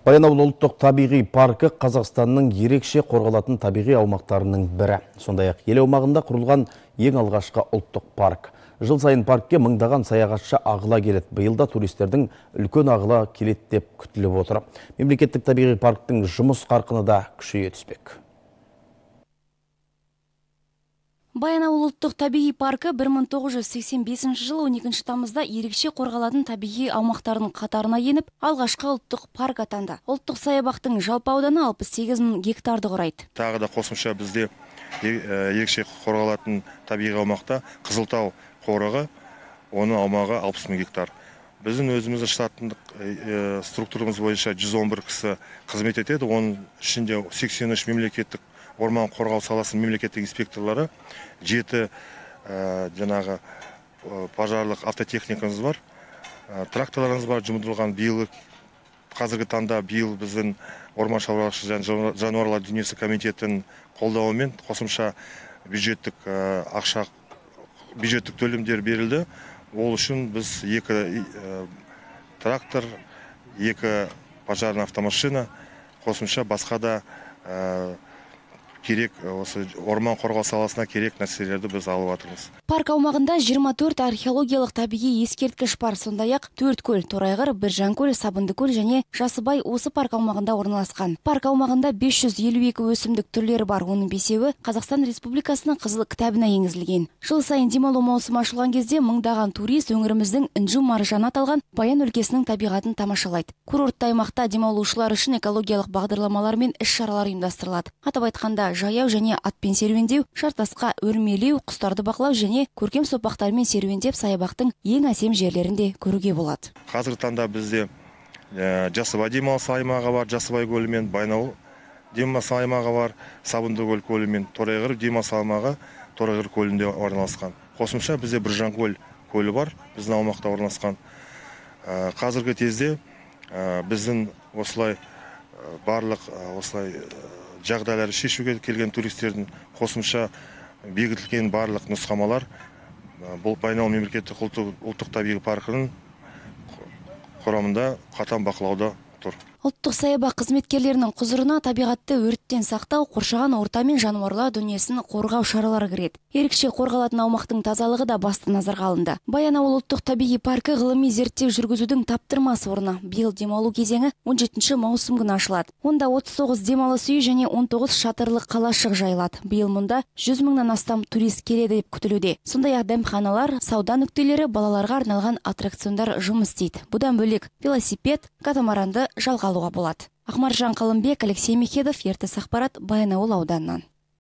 Баянауыл ұлттық табиғи паркі Қазақстанның ерекше қорғалатын табиғи аумақтарының бірі. Сондай-ақ ел аумағында құрылған ең алғашқы ұлттық парк. Жыл сайын паркке мыңдаған саяхатшы ағыла келеді. Биылда туристердің үлкен ағыла келеді деп күтіліп отыр. Мемлекеттік табиғи парктің жұмыс қарқыны да күшейе түспек. Баянауыл ұлттық табиғи паркі 1985 жылы 12 тамызда ерекше қорғалатын табиғи аумақтардың қатарына еніп, алғашқы ұлттық парк атанды. Ұлттық саябақтың жалпы ауданы 68 мың гектарды құрайды. Тағы да қосымша бізде ерекше қорғалатын табиғи аумақта Қызылтау қорығы, оның аумағы 60 мың гектар. Біздің өзіміздің штаттық структурамыз бойынша 111 кісі қызмет етеді. Оның ішінде 83 мемлекеттік орман қорғау саласының мемлекеттік инспекторлары, 7 жаңағы пожарлық автотехникамыз бар, тракторларымыз бар, жұмылдырылған. Қазіргі таңда біздің орман шаруашылығы және жануарлар дүниесі комитетінің қолдауымен қосымша бюджеттік төлемдер берілді. Ол үшін біз 2 трактор, 2 пожарный автомашина, қосымша басқа да керек осы орман қорғау саласына керек нәрселерді біз алып жатырмыз. Парк аумағында 24 археологиялық табиғи ескерткіш бар, сондай-ақ 4 көл, Торайғыр, Біржанкөл, Сабындыкөл және Жасыбай осы парк аумағында орналасқан. Парк аумағында 552 өсімдік түрлері бар, оның 5-еуі Қазақстан Республикасының қызыл кітабына енгізілген. Жыл сайын демалу маусымы ашылған кезде мыңдаған турист өңіріміздің інжу маржаны аталған Баян өлкесінің табиғатын тамашалайды. Курортты аймақта демалушылар үшін экологиялық бағдарламалар мен іс-шаралар ұйымдастырылады. Атап айтқанда, жаяу және атпен серуендеу, шартасқа өрмелеу, құстарды бақылау және көркем сопақтармен серуендеп саябақтың ең әсем жерлерінде көруге болады. Қазіргі таңда бізде Жасыбай демалыс аймағы бар, Жасыбай көлі мен Баянауыл демалыс аймағы бар, Сабындыкөл көлі мен Торайғыр демалыс аймағы Торайғыр көлінде орналасқан. Қосымша бізде Біржанкөл көлі бар, біздің аумақта орналасқан. Қазіргі кезде біздің осылай барлық жағдайларды шешуге келген туристердің қосымша бекітілген барлық нұсқамалар бұл Баянауыл мемлекеттік ұлттық табиғи паркінің құрамында қатаң бақылауда тұр. Ұлттық саябақ қызметкерлерінің құзырына табиғатты өрттен сақтау, қоршаған орта мен жануарлар дүниесін қорғау шаралары кіреді. Ерекше қорғалатын аумақтың тазалығы да басты назарға алынды. Баянауыл ұлттық табиғи паркі ғылыми зерттеу жүргізудің таптырмас орны. Биыл демалу кезеңі 17 маусым күні ашылады. Онда 39 демалыс үйі және 19 шатырлы қалашық жайылады. Биыл мұнда 100 мыңнан астам турист келеді деп күтілуде. Сондай-ақ дәмханалар, сауда нүктелері, балаларға арналған аттракциондар жұмыс істейді. Бұдан бөлек велосипед, катамаранды жалға алуға болады. Ақмаржан Қалымбек, Алексей Мехедов, ертіс ақпарат, Баянауыл ауданынан.